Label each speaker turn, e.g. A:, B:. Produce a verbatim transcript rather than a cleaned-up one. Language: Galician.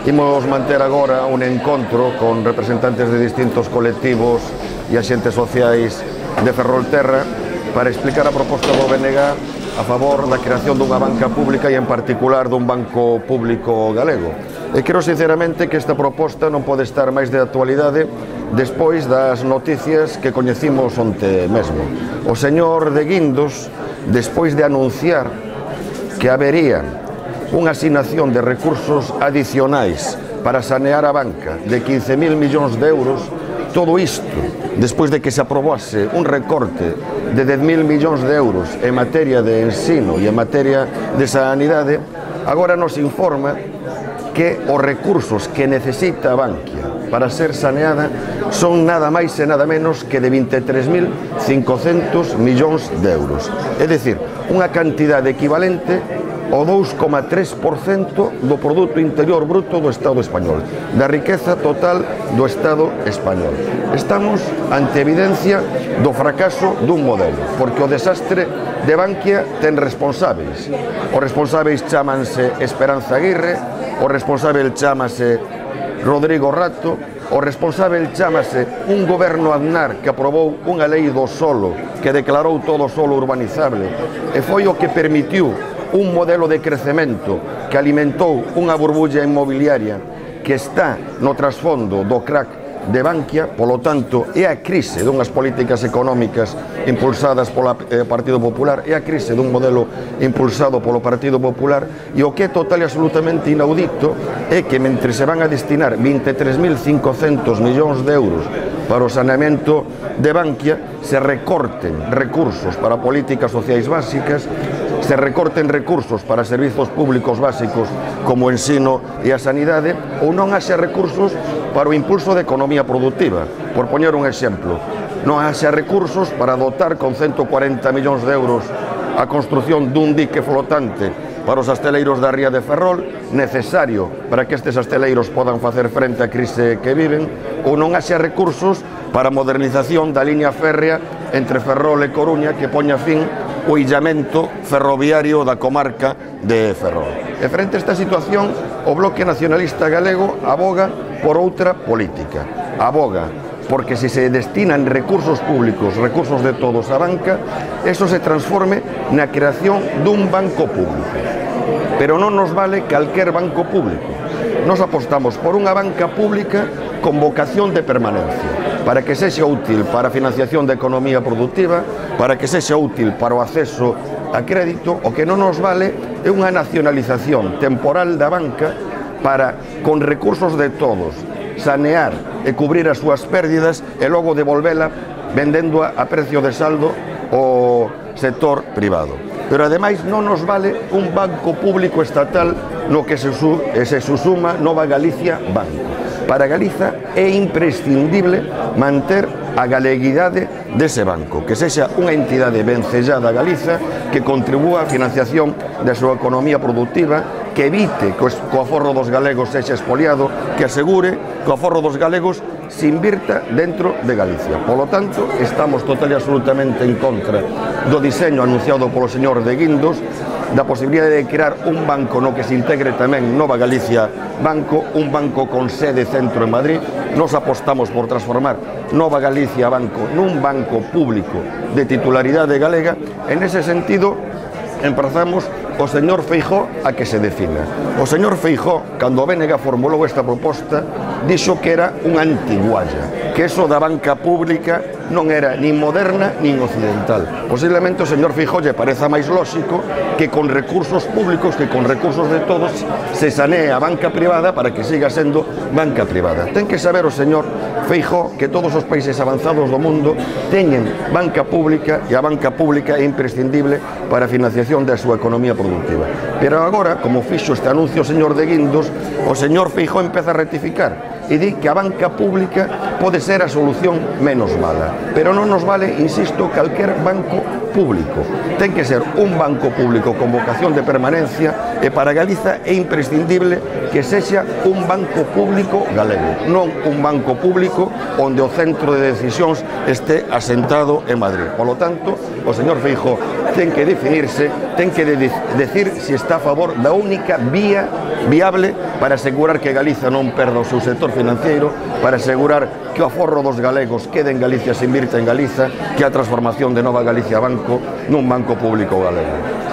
A: Imos manter agora un encontro con representantes de distintos colectivos e axentes sociais de Ferrolterra para explicar a proposta do B N G a favor da creación dunha banca pública e en particular dun banco público galego. E creo sinceramente que esta proposta non pode estar máis de actualidade despois das noticias que coñecimos onte mesmo. O señor de Guindos, despois de anunciar que habería unha asignación de recursos adicionais para sanear a banca de quince mil millóns de euros, todo isto, despois de que se aprobase un recorte de dez mil millóns de euros en materia de ensino e en materia de sanidade, agora nos informa que os recursos que necesita a Bankia para ser saneada son nada máis e nada menos que de vinte e tres mil cincocentos millóns de euros. É dicir, unha cantidade equivalente o dous coma tres por cento do Produto Interior Bruto do Estado español, da riqueza total do Estado español. Estamos ante evidencia do fracaso dun modelo, porque o desastre de Bankia ten responsáveis. Os responsáveis chámanse Esperanza Aguirre, o responsável chámase Rodrigo Rato, o responsável chámase un goberno Aznar que aprobou unha lei do solo que declarou todo o solo urbanizable e foi o que permitiu un modelo de crecemento que alimentou unha burbulla inmobiliaria que está no trasfondo do crack de Bankia. Polo tanto, é a crise dunhas políticas económicas impulsadas polo Partido Popular, é a crise dun modelo impulsado polo Partido Popular, e o que é total e absolutamente inaudito é que mentre se van a destinar vinte e tres mil cincocentos millóns de euros para o saneamento de Bankia, se recorten recursos para políticas sociais básicas, se recorten recursos para servizos públicos básicos como o ensino e a sanidade, ou non haxa recursos para o impulso da economía productiva. Por poñer un exemplo, non haxa recursos para dotar con ciento cuarenta millóns de euros a construción dun dique flotante para os asteleiros da ría de Ferrol, necesario para que estes asteleiros podan facer frente á crise que viven, ou non haxa recursos para a modernización da liña férrea entre Ferrol e Coruña que poña fin o illamento ferroviario da comarca de Ferrol. E frente a esta situación, o Bloque Nacionalista Galego aboga por outra política. Aboga porque se se destinan recursos públicos, recursos de todos a banca, eso se transforme na creación dun banco público. Pero non nos vale calquer banco público. Nos apostamos por unha banca pública con vocación de permanencia, para que sexa útil para a financiación da economía productiva, para que sexa útil para o acceso a crédito. O que non nos vale é unha nacionalización temporal da banca para, con recursos de todos, sanear e cubrir as súas pérdidas e logo devolvela vendéndoa a precio de saldo ao sector privado. Pero ademais non nos vale un banco público estatal no que se, su, se susuma Nova Galicia Banco. Para Galiza é imprescindible manter a galeguidade dese banco, que sexa unha entidade vencellada a Galiza, que contribúa á financiación da súa economía productiva, que evite que o aforro dos galegos sexa expoliado, que asegure que o aforro dos galegos se invirta dentro de Galicia. Polo tanto, estamos total e absolutamente en contra do diseño anunciado polo señor de Guindos, da posibilidade de crear un banco no que se integre tamén Nova Galicia Banco, un banco con sede centro en Madrid. Nos apostamos por transformar Nova Galicia Banco nun banco público de titularidade galega. En ese sentido, emprazamos o señor Feijóo a que se defina. O señor Feijóo, cando o B N G formulou esta proposta, dixo que era unha antigualla, que eso da banca pública non era nin moderna nin occidental. Posiblemente o señor Feijóo lle pareza máis lóxico que con recursos públicos, que con recursos de todos, se sanee a banca privada para que siga sendo banca privada. Ten que saber o señor Feijóo que todos os países avanzados do mundo teñen banca pública, e a banca pública é imprescindible para a financiación da súa economía productiva. Pero agora, como fixo este anuncio o señor de Guindos, o señor Feijóo empeza a rectificar e di que a banca pública pode ser a solución menos mala. Pero non nos vale, insisto, calquer banco público. Ten que ser un banco público con vocación de permanencia, e para Galiza é imprescindible que sexa un banco público galego, non un banco público onde o centro de decisións este asentado en Madrid. Por lo tanto, o señor Feijóo ten que definirse, ten que de decir se está a favor da única vía viable para asegurar que Galiza non perda o seu sector financeiro, para asegurar que o aforro dos galegos quede en Galicia, se invirta en Galiza, que a transformación de Nova Galicia Banco nun banco público galego.